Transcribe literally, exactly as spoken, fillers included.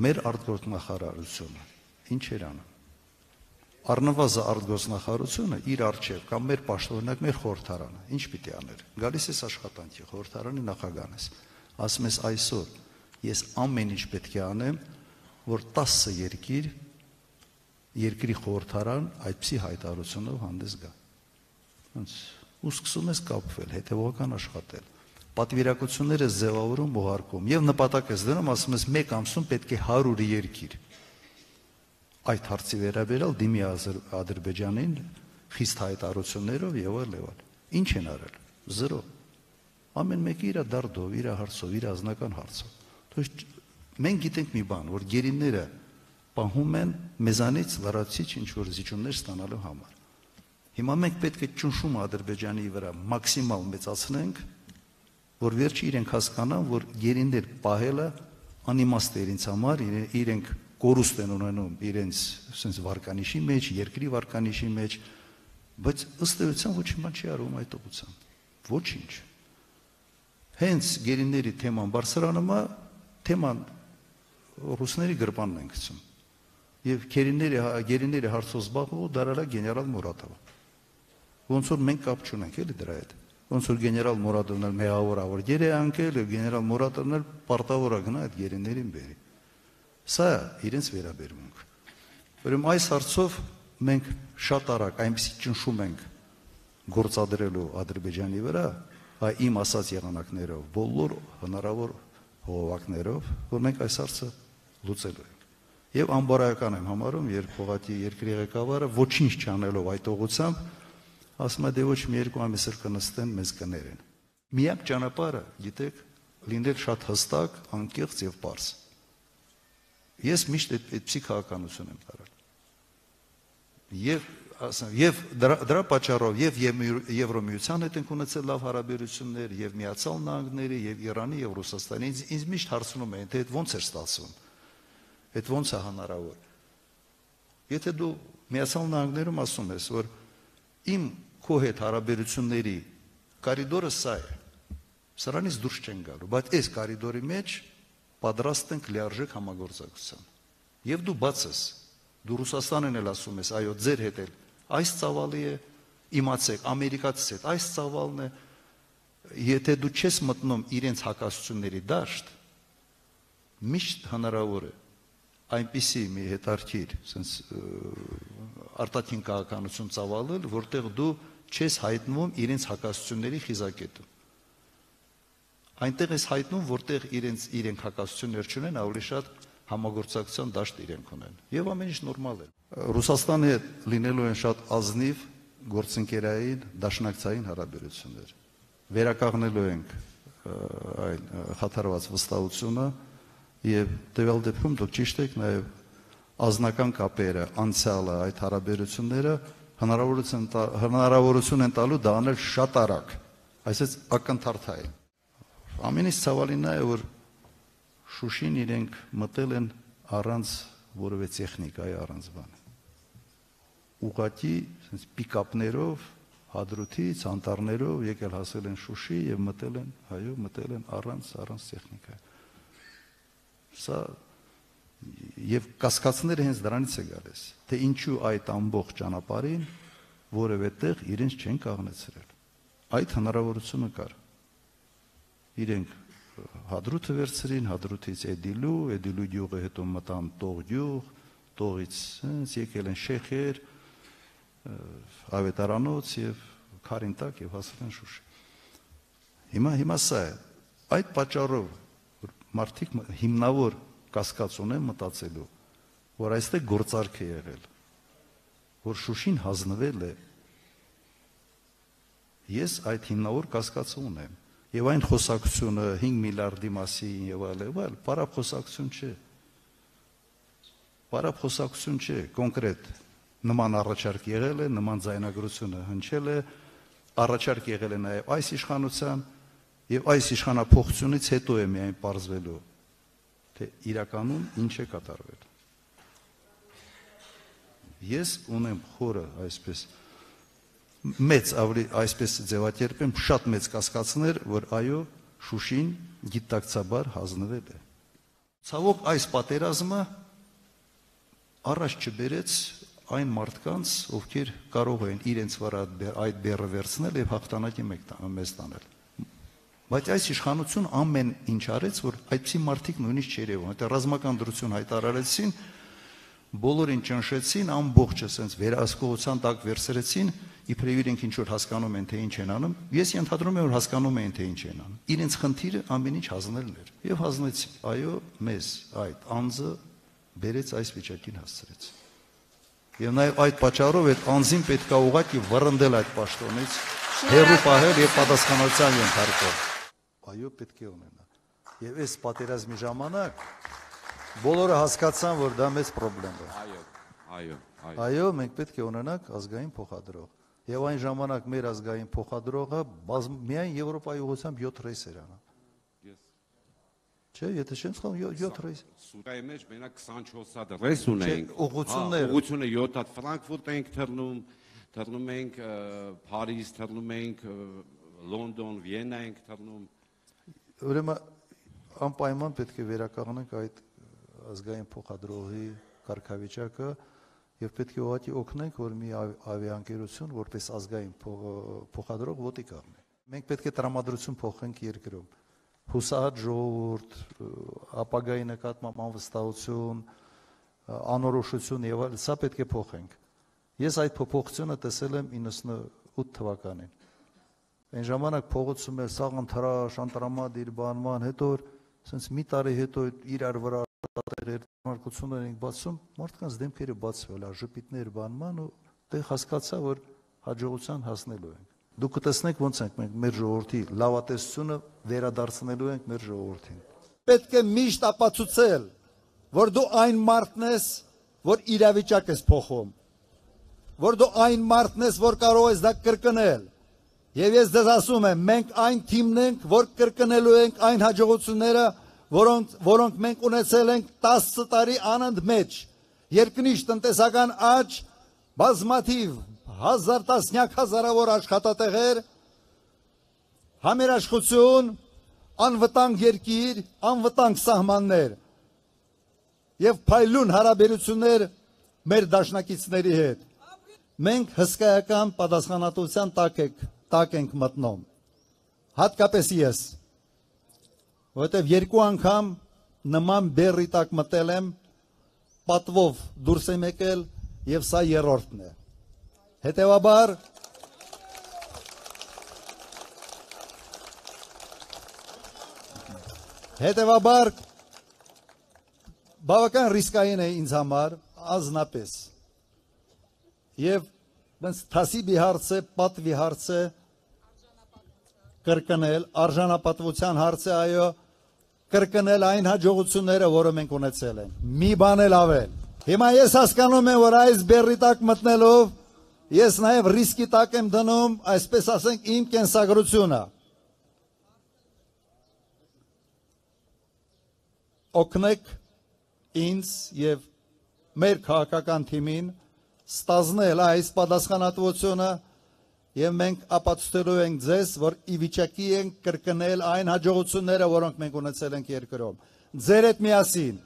մեր արտգործնախարարությունը ինչ էր անում։ Առնվազն արտգործնախարարությունը իր արչև կամ մեր պաշտոնյակ, մեր խորհրդարանը ինչ պիտի աներ։ Գալիս ես աշխատանքի, խորհրդարանի նախագահն ես, ասում ես այսօր ես ամեն ինչ պետք է անեմ, որ տասը երկիր երկրի խորհրդարան այդպիսի հայտարարությունով հանդես գա։ Ու սկսում ես կապվել, հետևողական աշխատել։ Պատվիրակությունները ձևավորում ուղարկում եւ նպատակ ես դնում, ասում ես մեկ ամսում պետք է հարյուր երկիր այդ հարցի վերաբերյալ դիմի Ադրբեջանին խիստ հայտարարություններով եւ այլ եւ այլ։ Ինչ են արել։ Զրո։ Ամեն մեկը իր դարդով, իր հարցով, իր ազնական հարցով։ Թույն մենք գիտենք մի բան, որ գերիները պահում են մեզանից լրացիչ ինչ որ զիջումներ ստանալու համար։ Հիմա մենք պետք է ճնշում Ադրբեջանի վրա մաքսիմալ մեծացնենք, որ վերջի իրենք հասկանան, որ գերիներ պահելը անիմաստ է իրենց համար, իրենք կորուստ են ունենում իրենց sense վարկանիշի մեջ, երկրի վարկանիշի մեջ, բայց ըստ էության ոչինչ բան չի արվում այդ ուղղությամբ։ Ոչինչ։ Հենց գերիների թեման բարձրանում է, թեման ռուսների գրպանն են գցում։ Եվ գերիների գերիների հարցով զբաղվող դարալա գեներալ Մուրատովը։ Ոնց որ մենք կապ չունենք էլի դրա հետ։ Ոնց որ գեներալ Մուրատովն էլ մեղավոր ավոր գեր է անկել, եւ գեներալ Մուրատովն էլ պարտավոր է գնա այդ գերիներին բերի։ Սա իրենց վերաբերմունք։ Ուրեմն այս հարցով մենք շատ արագ այնպեսի ճնշում ենք գործադրելու Ադրբեջանի վրա, այ իմ ասած եղանակներով, բոլոր հնարավոր հողովակներով, որ մենք այս հարցը լուծելու ենք։ Եվ անբարոյական եմ համարում, երբ Հողատի երկրի ղեկավարը ոչինչ չանելով այդ ուղղությամբ ասում է դե ոչ մի երկու ամիս էլ կնստեն մեզ կներեն։ Միակ ճանապարհը, գիտեք, լինել շատ հստակ, անկեղծ եւ պարզ։ Ես միշտ այդպիսի քաղաքականություն եմ տարել։ Եվ ասեմ, եւ դրա, դրա պատճառով եւ Եվրոմիության հետ ենք ունեցել լավ հարաբերություններ, եւ Միացյալ Նահանգների, եւ Իրանի, եւ Ռուսաստանի։ Ինձ, ինձ միշտ հարցնում են, թե այդ ո՞նց է ստացվում։ Այդ ո՞նց է հնարավոր։ Եթե դու Միացյալ Նահանգներում ասում ես, որ իմ քո հետ հարաբերությունների կորիդորը սա է, սրանից դուրս չեն գալու, բայց այս կորիդորի մեջ պատրաստ ենք լիարժեք համագործակցության։ Եվ դու բաց ես, դու Ռուսաստանին էլ ասում ես, այո, ձեր հետ էլ այս ծավալի է, իմացեք, ամերիկացիս հետ այս ծավալն է, եթե դու չես մտնում իրենց հակասությունների դաշտ, միշտ հնարավոր է այնպիսի մի հետարքիր, արտաքին քաղաքականություն ծավալել, որտեղ դու չես հայտնվում իրենց հակասությունների խիզակետում։ Այնտեղ ես հայտնում, որտեղ իրենց իրենք հակասություններ չունեն, ավելի շատ համագործակցության դաշտ իրենք ունեն։ Եվ ամեն ինչ նորմալ է։ Ռուսաստանի հետ լինելու են շատ ազնիվ գործընկերային, դաշնակցային հարաբերություններ։ Վերականգնելու ենք այն խաթարված վստահությունը եւ տվյալ դեպքում դուք ճիշտ եք, նաեւ ազնական կապերը, անցյալը, այդ հարաբերությունները հնարավորություն հնարավորություն են տալու դա անել շատ արագ, այսպես ակնթարթային։ Ամենից ցավալին նա է, որ Շուշին իրենք մտել են առանց որևէ տեխնիկայի, առանց բան։ Ուղղակի պիկապներով, հադրութից, անտառներով եկել հասել են Շուշի եւ մտել են, հայո, մտել են առանց առանց տեխնիկայի։ Սա եւ կասկածները հենց դրանից է գալիս, թե ինչու այդ ամբողջ ճանապարհին որևէ տեղ իրենց չեն կաղնեցրել։ Այդ հնարավորությունը կար։ Իրենք հադրութը վերցրին, հադրութից Էդիլու, Էդիլու գյուղը հետո մտան Տող գյուղ, Տողից եկել են Շեխեր, Ավետարանոց եւ Քարինտակ եւ հասել են Շուշի։ Հիմա հիմա սա է։ Այդ պատճառով մարդիկ հիմնավոր կասկած ունեն մտածելու, որ այստեղ գործարք է եղել, որ Շուշին հանձնվել է։ Ես այդ հիմնավոր կասկածը ունեմ։ Եվ այն խոսակցությունը հինգ միլիարդի մասին եւ այլ եւ այլ, պարապ խոսակցություն չէ։ Պարապ խոսակցություն չէ, կոնկրետ նման առաջարկ եղել է, նման ձայնագրությունը հնչել է, առաջարկ եղել է նաեւ այս իշխանության եւ այս իշխանափոխությունից հետո է միայն պարզվելու, թե իրականում ինչ է կատարվել։ Ես ունեմ խորը այսպես մեծ ավելի այսպես ձևակերպեմ շատ մեծ կասկածներ, որ այո Շուշին գիտակցաբար հանձնվել է։ Ցավոք այս պատերազմը առաջ չբերեց այն մարդկանց, ովքեր կարող են իրենց վրա այդ բեռը վերցնել եւ հաղթանակի մեզ տանել։ Բայց այս իշխանություն ամեն ինչ արեց, որ այդպիսի մարդիկ նույնիսկ չերևան, այդ ռազմական դրություն հայտարարեցին, բոլորին ճնշեցին, ամբողջը sense վերահսկողության տակ վերցրեցին, իբրև իրենք ինչ որ հասկանում են, թե ինչ են անում։ Ես ենթադրում եմ, որ հասկանում են, թե ինչ են անում։ Իրենց խնդիրը ամեն ինչ հանձնելն էր։ Եվ հանձնեցին։ Այո, մեզ այդ անձը բերեց այս վիճակին հասցրեց։ Եվ նաև այդ պատճառով այդ անձին պետք է ուղղակի վռնդել այդ պաշտոնից, հեռու պահել եւ պատասխանատվության ենթարկել։ Այո, պետք է ունենա։ Եվ այս պատերազմի ժամանակ բոլորը հասկացան, որ դա մեծ խնդրեմ է։ Այո, այո, այո։ Այո, մենք պետք է ունենանք ազգային փոխադրող։ Եվ այն ժամանակ մեր ազգային փոխադրողը միայն Եվրոպայի ուղղությամբ յոթ ռեյս էր անում։ Չէ, եթե չեմ սխալվում, յոթ ռեյս։ Սուրայի մեջ մենակ քսանչորս հատ ռեյս ունենք։ Ուղղություններ։ Ուղղությունը յոթ հատ Ֆրանկֆուրտ ենք թռնում, թռնում ենք Փարիզ, թռնում ենք Լոնդոն, Վիեննա ենք թռնում։ Ուրեմն անպայման պետք է վերականգնենք այդ ազգային փոխադրողի կարգավիճակը եւ պետք է ուղղակի օգնենք, որ մի ավիաընկերություն որպես ազգային փոխադրող ոտի կանգնի։ Մենք պետք է տրամադրություն փոխենք երկրում։ Հուսահատ ժողովուրդ, ապագայի նկատմամբ անվստահություն, անորոշություն եւ այլն, սա պետք է փոխենք։ Ես այդ փոփոխությունը տեսել եմ իննսունութ թվականին։ Այն ժամանակ փողոցում էր սաղ ընտրաշ, անտրամադ իր բանման, հետո sense մի տարի հետո իրար վրա տեղեր ենք բացում, մարդկանց դեմքերը բացվել, ժպիտներ բանման ու դե հասկացա, որ հաջողության հասնելու ենք։ Դուք կտեսնեք ոնց ենք մենք մեր ժողովրդի լավատեսությունը վերադարձնելու ենք մեր ժողովրդին։ Պետք է միշտ ապացուցել, որ դու այն մարդն ես, որ իրավիճակ ես փոխում, որ դու այն մարդն ես, որ կարող ես դա կրկնել։ Եվ ես ձեզ ասում եմ, մենք այն թիմն ենք, որ կրկնելու ենք այն հաջողությունները, որոնք որոնք մենք ունեցել ենք տասը տարի անընդմեջ, երկնիշ տնտեսական աճ, բազմաթիվ հազար տասնյակ հազարավոր աշխատատեղեր, համերաշխություն, անվտանգ երկիր, անվտանգ սահմաններ եւ փայլուն հարաբերություններ մեր դաշնակիցների հետ։ Մենք հսկայական պատասխանատվության տակ ենք, տակ ենք մտնում։ Հատկապես ես, որովհետև երկու անգամ նման բեռի տակ մտել եմ, պատվով դուրս եմ եկել եւ սա երրորդն է։ Հետևաբար Հետևաբար բավական ռիսկային է ինձ համար, ազնապես։ Եվ բենց թասիբի հարց է, պատվի հարց է, կրկնել, արժանապատվության հարց է, այո, կրկնել այն հաջողությունները, որը մենք ունեցել ենք։ Մի բան էլ ավել։ Հիմա ես հասկանում եմ, որ այս բեռի տակ մտնելով, ես նաև ռիսկի տակ եմ դնում, այսպես ասենք, իմ կենսագրությունը։ Օգնեք ինձ եւ մեր քաղաքական թիմին ստանձնել այս պատասխանատվությունը եւ մենք ապացուցելու ենք ձեզ, որ ի վիճակի ենք կրկնել այն հաջողությունները, որոնք մենք ունեցել ենք երկրում։ Ձեր հետ միասին